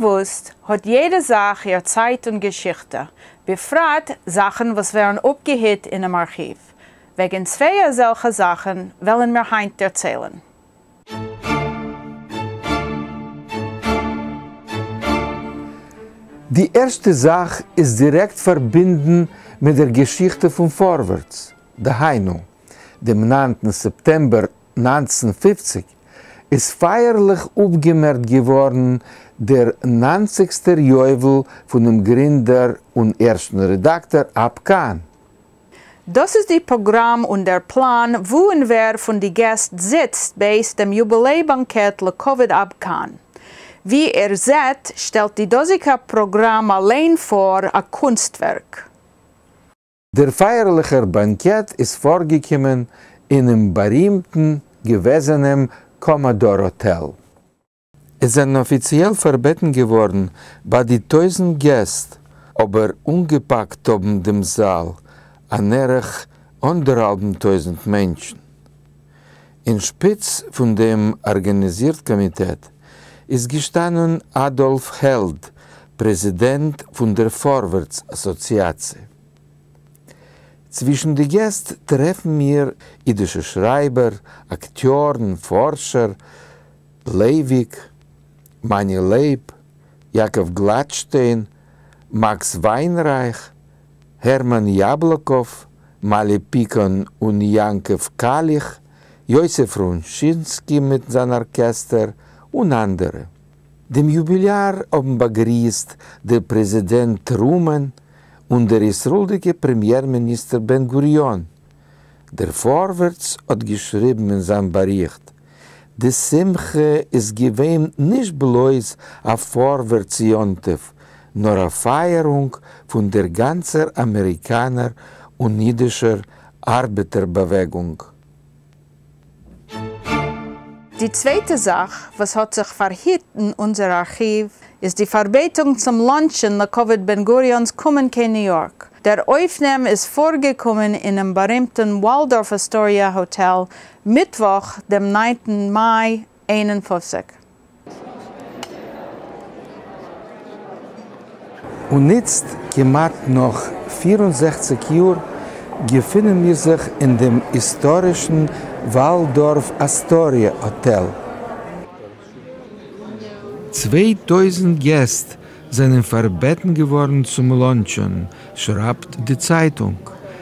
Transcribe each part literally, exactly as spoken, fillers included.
באוואוסט, האט יעדע זאך איר צייט און געשיכטע, בפרט זאכן וואס ווערן אפגעהיט אינעם ארכיוו. וועגן צוויי אזעלכע זאכן וועלן מיר היינט דערציילן. די ערשטע זאך איז דירעקט פארבינדן מיט דער געשיכטע פון פארווערטס, דהיינו, דעם ניינטן סעפטעמבער נײַנצן פֿופֿציק איז פייערליך אפגעמערקט געווארן דער ניינציגסטער יובל פונעם גרינדער און ערשטן רעדאקטאר אב קאהן. דאס איז די פראגראם און דער פלאן וואו און ווער פון די געסט זיצט בעת דעם יוביליי באנקעט לכבוד אב קאהן. ווי איר זעט, שטעלט די דאזיגע פראגראם אליין פאר א קונסטווערק. דער פייערליכער באנקעט איז פארגעקומען אינעם בארימטן געוועזענעם קאמאדאר האטעל. עס זענען אפיציעל פארבעטן געווארן ביי די טויזנט געסט, אבער אנגעפאקט האבן דעם זאל אן ערך אנדערהאלבן טויזנט מענטשן. אין שפיץ פון דעם ארגאניזירט קאמיטעט איז געשטאנען אדאלף העלד, פרעזידענט פון דער פארווערטס אסאציאציע. צווישן די געסט טרעפן מיר אידישע שרייבער, אקטיארן, פארשער, לייוויק, מאני לייב, יעקב גלאטשטיין, מאקס וויינרייך, הערמאן יאבלאקאוו, מאלי פיקאן און יעקב קאליך, יוסף רונשינסקי מיט זיין ארקעסטער און אנדערע. דעם יוביליאר האבן באגריסט דער פרעזידענט טרומאן און דער ישראל'דיגער פרעמיער מיניסטער בן גוריון. דער פארווערטס האט געשריבן אין זיין באריכט, די שמחה איז געווען נישט בלויז א פארווערטס יום טוב, נאר א פייערונג פון דער גאנצער אמעריקאנער און אידישער ארבעטער באוועגונג. די צווייטע זאך וואס האט זיך פארהיט אין אונזער ארכיוו איז די פארבעטונג צום לאנטשען לכבוד בן גוריון'ס קומען קיין ניו יארק. דער אויפנעם איז פארגעקומען אינעם בארימטן וואלדארף אסטאריא האטעל מיטוואך דעם ניינטן מאי איין און פֿופֿציק. און איצט, כמעט נאך פֿיר און זעכציק יאר, געפינען מיר זיך אין דעם היסטארישן וואלדארף אסטאריא האטעל. צוויי טויזנט געסט זענען פארבעטן געווארן צום לאנטשען, שרייבט די צייטונג.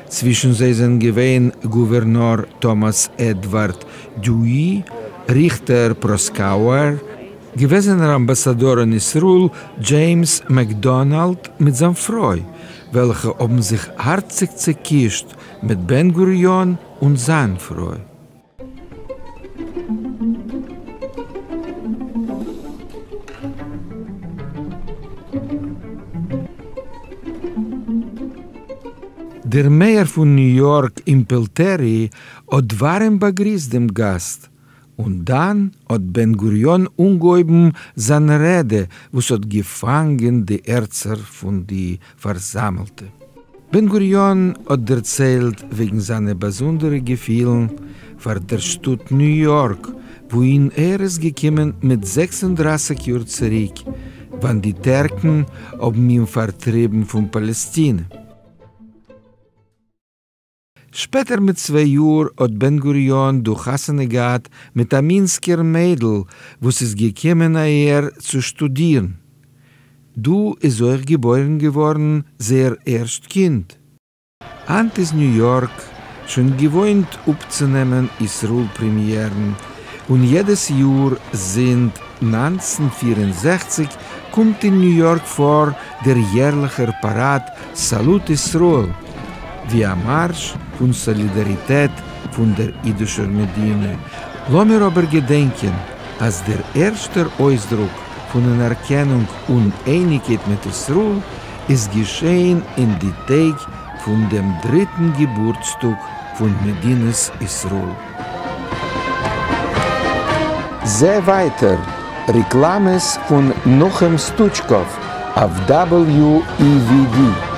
צווישן זיי זענען געווען גאווערנאר טאמאס עדווארד דיואי, ריכטער פראסקאוער, געוועזענער אמבאסאדאר אין ישראל דזשעימס מעקדאנאלד מיט זיין פרוי, וועלכע האבן זיך הארציג צעקישט מיט בן גוריון און זיין פרוי. דער מעיאר פון ניו יארק אימפעלטערי האט ווארעם באגריסט דעם גאסט, און דאן האט בן גוריון אנגעהויבן זיין רעדע וואס האט געפאנגען די הערצער פון די פארזאמעלטע. בן גוריון האט דערציילט וועגן זיינע באזונדערע געפילן פאר דער שטאט ניו יארק, וואוהין ער איז געקומען מיט זעקס און דרײַסיק יאר צוריק, ווען די טערקן האבן אים פארטריבן פון פאלעסטינע. שפעטער מיט צוויי יאר האט בן גוריון דא חתונה געהאט מיט א מינסקער מיידל וואס איז געקומען אהער צו שטודירן. דא איז אויך געבוירן געווארן זייער ערשט קינד. היינט איז ניו יארק שוין געוואוינט אפצונעמען ישראל פרעמיערן, און יעדעס יאר זינט נײַנצן פֿיר און זעכציק קומט אין ניו יארק פאר דער יערליכער פאראד סאלוט ישראל, ווי א מארש פון סאלידאריטעט פון דער אידישער מדינה. לאמיר אבער געדענקען אז דער ערשטער אויסדרוק פון אנערקענונג און אייניגקייט מיט ישראל איז געשען אין די טעג פון דעם דריטן געבורטסטאג פון מדינת ישראל. זע ווייטער רעקלאמעס פון נחום סטוטשקאוו אויף W E V D.